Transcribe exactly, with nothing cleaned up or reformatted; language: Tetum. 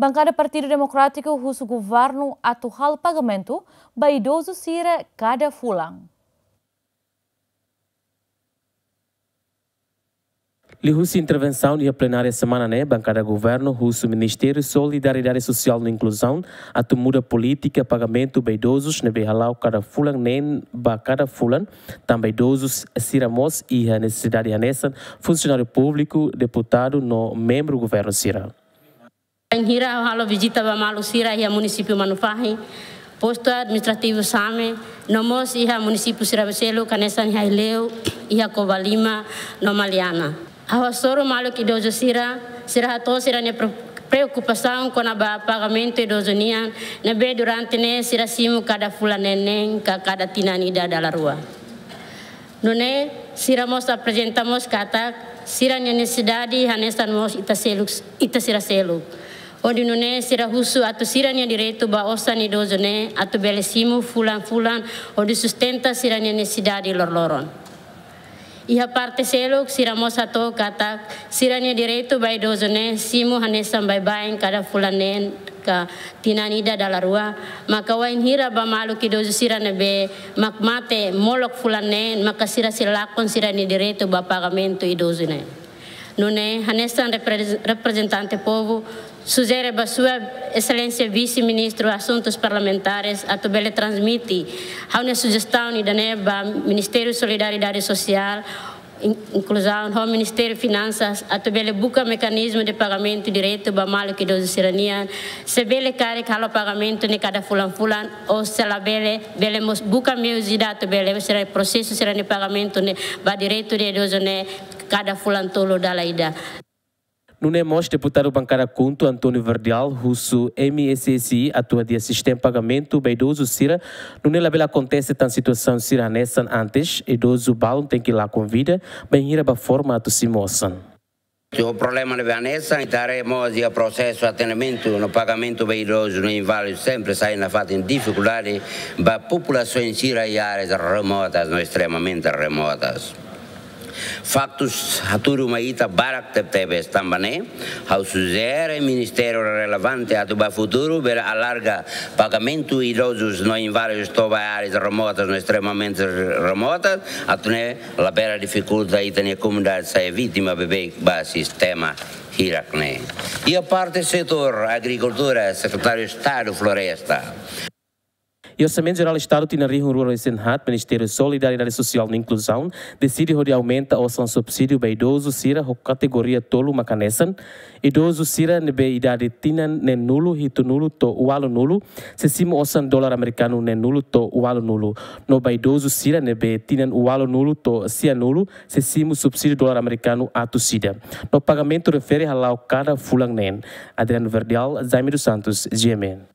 Bankada Partidu Demokrátiku husu governu atu halo pagamentu ba idozu sira kada fulan. Liuhusi intervensaun iha plenária semana ne'e, bankada governu husu Ministériu Solidariedade Sosiál no Inkluzaun atu muda polítika pagamentu ba idozus ne'ebé hala'o kada fulan neen ba kada fulan, tanba idozus sira mós iha nesesidade hanesan funsionáriu públiku, deputadu no membru governu sira. Bainhira ha'u halo vizita ba maluk sira iha munisípiu Manufahi, postu administrativu Same, no mós iha munisípiu sira seluk hanesan iha Aileu, iha Covalima, no Maliana. Ha'u hasoru maluk idozu sira, sira hato'o sira-nia pre-, preokupasaun kona-ba pagamentu idozu nian, ne'ebé durante ne'e sira simu kada fulan neen ka kada tinan ida dala rua. Nune'e, sira mós aprezenta mós katak sira-nia nesesidade hanesan mós ita seluk, ita sira seluk. Hodi nune'e sira husu atu sira-nia direitu ba osan idozu ne'e atu bele simu fulan-fulan hodi sustenta sira-nia nesesidade loroloron. Iha parte seluk sira mós hato'o katak sira-nia direitu ba idozu ne'e simu hanesan baibain kada fulan neen ka tinan ida dala rua, maka wainhira ba maluk idozu sira ne'ebé mak mate molok fulan neen, maka sira sei lakon sira-nia direitu ba pagamentu idozu ne'e. Nune'e, hanesan repre-, reprezentante povu, sujere ba Sua Exelénsia Vise-Ministru Asuntus Parlamentares atu bele transmite ha'u-nia sujestaun ida-ne'e ba Ministériu Solidariedade Sosiál, In-, Inkluzaun ho Ministériu Finansas atu bele buka mekanizmu de pagamentu diretu ba maluk idozu sira-nian. Se bele karik halo pagamentu ne'e kada fulan-fulan, ou se labele, bele mós buka meius ida atu bele sira prosesu sira-nia pagamentu ne'e ba direitu de idozu ne'e kada fulan tolu dala ida. Nune'e mós deputadu bankada KHUNTO António Verdial husu M S S I atu hadi'a sistema pagamentu ba idozu sira, nune'e labele akontese tan situasaun sira hanesan antes, idozu balun tenke lakon vida, bainhira bá forma atu simu osan. Ho problema ne'ebé hanesan, ita haree mós iha prosesu atendimentu no pagamentu ba idozu no inválidu sempre sai nafatin difikuldade ba populasaun sira iha áreas remotas no estremamente remotas. Faktus hatudu mai ita barak tebetebes, tanba ne'e ha'u sujere ministériu relevante atu ba futuru bele alarga pagamentu idozus no inválidos to'o ba áreas remotas no estremamente remotas, atu nune'e labele difikulta ita-nia komunidade sai vítima beibeik ba sistema hirak ne'e. Iha parte setór agrikultura, Sekretáriu Estadu Floresta. Iha Orsamentu Jerál Estadu tinan rihun rua resin haat, Ministériu Solidariedade Sosiál no Inkluzaun deside hodi aumenta osan subsídiu ba idozu sira ho kategoria tolu, mak hanesan: idozu sira ne'ebé idade tinan neenulu, hitunulu to'o ualunulu, sei simu osan dolar amerikanu neenulu to'o ualunulu. No ba idozu sira ne'ebé tinan ualunulu to'o sianulu, sei simu subsídiu dolar amerikanu atus ida. No pagamentu refere hala'o kada fulan neen. Adriano Verdial, Jaime dos Santos, G M N.